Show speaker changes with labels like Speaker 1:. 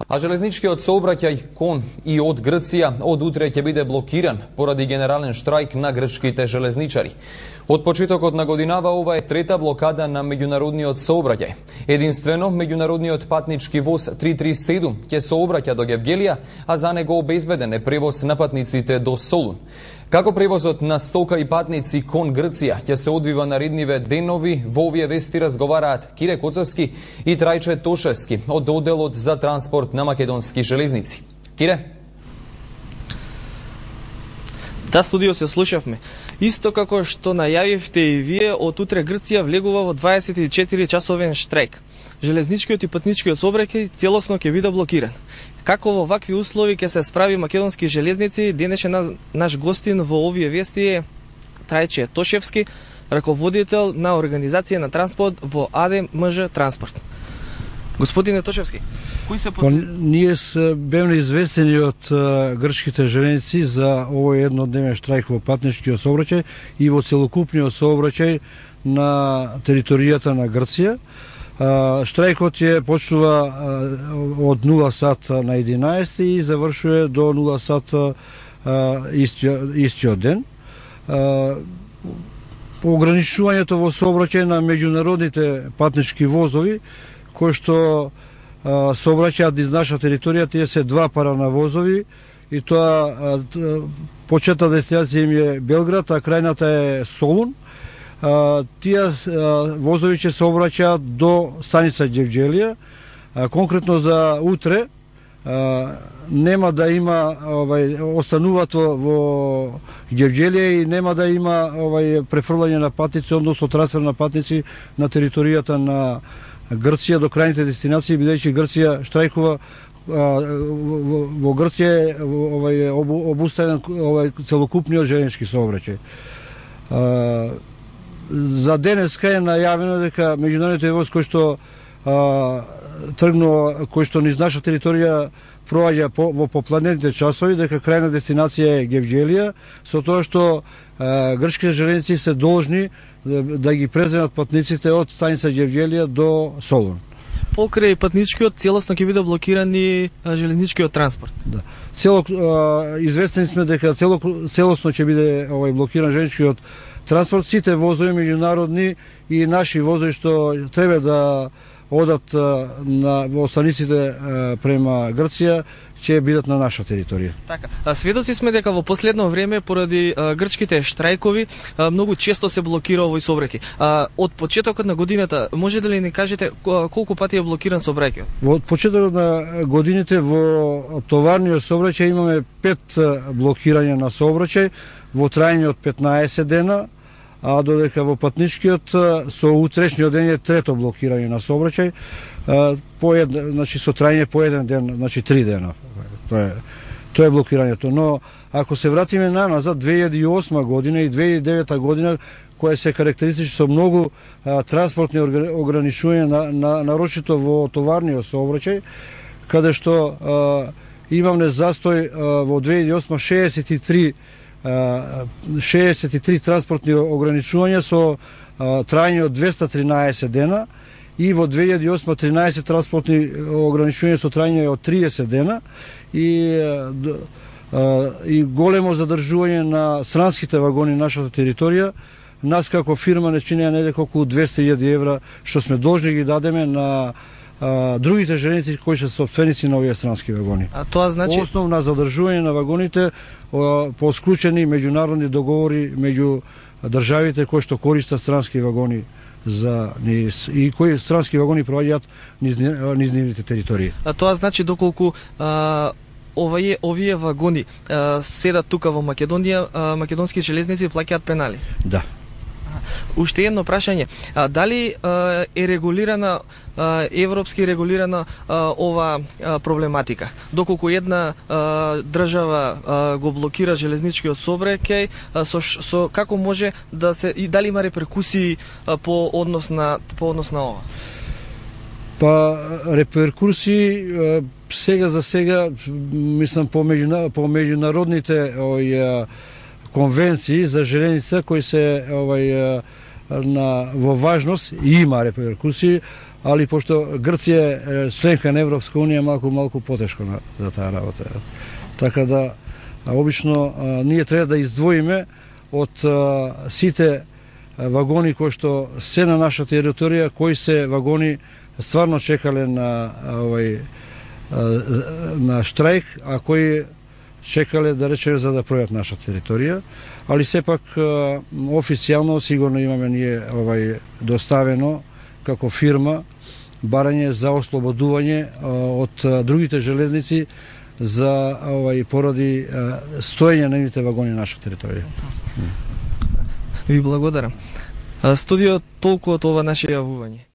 Speaker 1: А железничкиот сообраќај кон и од Грција од утре ќе биде блокиран поради генерален штрајк на грчките железничари. Од почетокот на годинава ова е трета блокада на меѓународниот сообраќај. Единствено, меѓународниот патнички воз 337 ќе сообраќа до Гевгелија, а за него обезбеден е превоз на патниците до Солун. Како превозот на стока и патници кон Грција ќе се одвива наредниве денови, во овие вести разговараат Кире Коцевски и Трајче Тошевски од одделот за транспорт на македонски железници. Кире?
Speaker 2: Да, студио се слушавме. Исто како што најавивте и вие, од утре Грција влегува во 24-часовен штрајк. Железничкиот и патничкиот сообраќај целосно ќе биде блокиран. Како во вакви услови ќе се справи македонски железници, денеше наш гостин во овие вести е Трајче Тошевски, раководител на организација на транспорт во АДМЖ Транспорт. Господине Тошевски, кои се
Speaker 3: Ние бевме известени од грчките железници за овој еднодневен штрајк во патничкиот сообраќај и во целокупниот сообраќај на територијата на Грција. Штрајкот ја почнува од 0 сат на 11 и завршува до 0 сат истиот ден. Ограничувањето во сообраќај на меѓународните патнички возови кои што сообраќаат низ наша територија, тие се два пара на возови и тоа почетна дестинација им е Белград, а крајната е Солун. Тие возови ќе сообраќаат до станица Гевгелија. Конкретно за утре нема да има остануваат во Гевгелија и нема да има префрлање на патници, односно трансфер на патници на територијата на Грција до крајните дестинации, бидејќи Грција штрајкува, во Грција е обуставен целокупниот железнички сообраќај. За денеска е најавено дека меѓународниот воз кој што тргнува, кој што низ наша територија проаѓа во попладневните часови, дека крајна дестинација е Гевгелија, со тоа што грчките железници се должни да ги преземат патниците од станица Гевгелија до Солун.
Speaker 2: Покрај патничкиот целосно ќе биде блокиран и железничкиот транспорт.
Speaker 3: Да. Известени сме дека целосно ќе биде блокиран железничкиот транспорт. Сите возови меѓународни и наши возови што треба да одат во станиците према Грција ќе бидат на наша територија.
Speaker 2: Така. Сведоци сме дека во последно време поради грчките штрајкови многу често се блокира овој сообраќај. Од почетокот на годината може да ли ни кажете колку пати е блокиран сообраќајот?
Speaker 3: Во почетокот на годините во товарниот сообраќај имаме 5 блокирања на сообраќај во трајање од 15 дена, а додека во патничкиот со утрешниот ден е трето блокирање на сообраќај, значи со трајање по еден ден, значи 3 дена. Тоа е блокирањето. Но ако се вратиме назад 2008 година и 2009 година, која се карактеристичи со многу транспортни ограничувања, нарочито во товарниот сообраќај, каде што имаме застој во 2008 63 транспортни ограничувања со трајање од 213 дена и во 2008 13 транспортни ограничувања со трајање од 30 дена и големо задржување на странските вагони на нашата територија. Нас како фирма не чинеа недека околу 200.000 евра што сме должни ги дадеме на другите железници кои се собственици на овие странски вагони.
Speaker 2: А тоа значи
Speaker 3: основна задржување на вагоните по склучени меѓународни договори меѓу државите кои што користат странски вагони за низ и кои странски вагони проаѓаат низ нивните територии.
Speaker 2: А тоа значи доколку овие вагони седат тука во Македонија, македонски железници плаќаат пенали?
Speaker 3: Да.
Speaker 2: Уште едно прашање. Дали е регулирана, европски регулирана ова проблематика? Доколку една држава го блокира железничкиот сообраќај, со како може да се и дали има реперкусии по однос на ова?
Speaker 3: Реперкусии сега за сега мислам по меѓународните конвенции за железница кои се во важност и има реперкусии, али пошто Грција е членка на Европска унија, малку потешко за таа работа. Така да обично ние треба да издвоиме од сите вагони кои што се на наша територија, кои се вагони стварно чекале на штрајк, а кои чекале, да речеме, за да пројат наша територија, али сепак официјално сигурно имаме ние доставено како фирма барање за ослободување од другите железници за поради стоење на нивните вагони на наша територија.
Speaker 2: Ви благодарам. Студио, толку од ова наше јавување.